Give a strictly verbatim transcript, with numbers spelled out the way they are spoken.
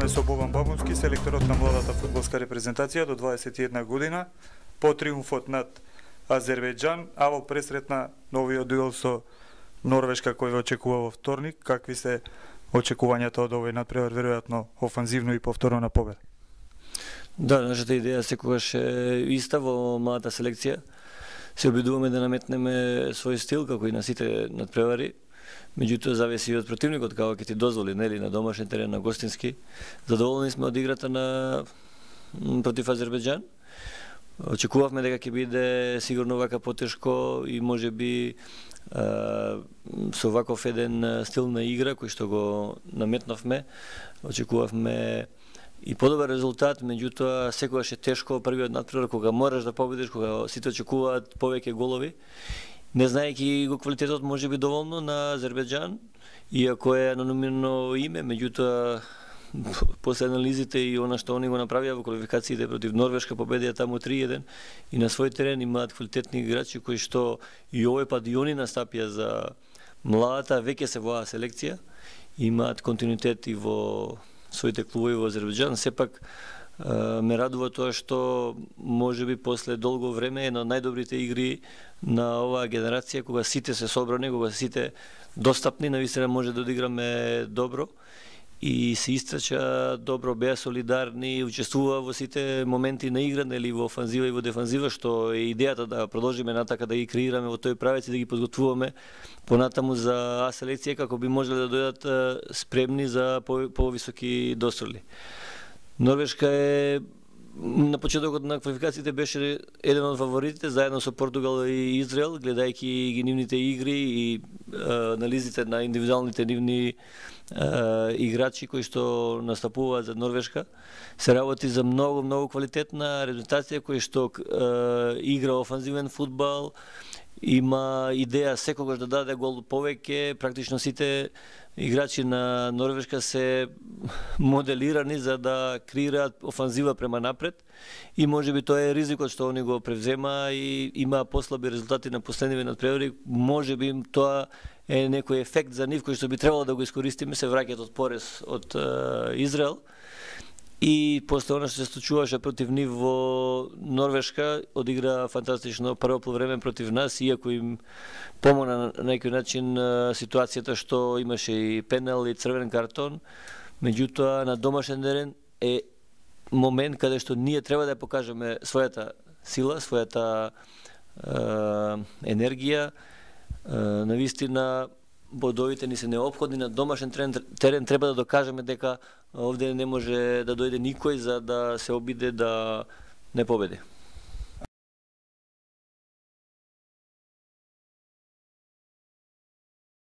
Разговараме со Бобан Бабунски, селекторот на младата фудбалска репрезентација до дваесет и една година, по триумфот над Азербејџан, а во пресрет на новиот дуел со Норвешка кој ве очекува во вторник. Какви се очекувањата од овој надпревар, веројатно офанзивно и повторно на победа? Да, нашата идеја секогаш е иста во младата селекција. Се обидуваме да наметнеме свој стил како и на сите надпревари. Меѓутоа зависи и од противникот како ќе ти дозволи, нели, на домашен терен, на гостински. Задоволни сме од играта на против Азербејџан. Очекувавме дека ќе биде сигурно вака потешко и можеби со ваков еден стил на игра кој што го наметнавме. Очекувавме и подобар резултат, меѓутоа секогаш е тешко првиот надпревар кога мораш да победиш, кога сите очекуваат повеќе голови. Не знаејќи го квалитетот можеби доволно на Азербејџан, иако е анонимно име, меѓутоа после анализите и она што они го направија во квалификациите против Норвешка, победија таму три еден и на свој терен имаат квалитетни играчи кои што и овој пат и они настапија за младата, веќе се во селекција, имаат континуитет и во своите клубови во Азербејџан. Сепак ме радува тоа што можеби после долго време една од најдобрите игри на оваа генерација, кога сите се собрани, кога сите достапни, навистина може да одиграме добро и се истрача добро, беа солидарни, учествува во сите моменти на игра, нели, во офанзива и во дефанзива, што е идејата да продолжиме натака да ги креираме во тој правец и да ги подготвуваме понатаму за А селекција како би можеле да дојдат спремни за повисоки дострели. Норвешка е на почетокот на квалификациите беше еден од фаворитите заедно со Португал и Израел, гледајќи ги нивните игри и анализите на индивидуалните нивни играчи кои што настапуваат за Норвешка. Се работи за многу многу квалитетна репрезентација која што игра офанзивен фудбал, има идеја секогаш да даде гол повеќе. Практично сите играчи на Норвешка се моделирани за да креираат офанзива према напред и можеби тоа е ризикот што они го превзема и има послаби резултати на последниве надпревари. Можеби тоа е некој ефект за нив кој што би требало да го искористиме, се враќаат од порез од Израел. И после она што се случуваше против нив во Норвешка, одигра фантастично прво полувреме против нас, иако им помогна на некој начин ситуацијата што имаше и пенал и црвен картон. Меѓутоа на домашен терен е момент каде што ние треба да покажеме својата сила, својата енергија. Навистина бодовите ни се неопходни на домашен терен, терен треба да докажеме дека овде не може да дојде никој за да се обиде да не победи.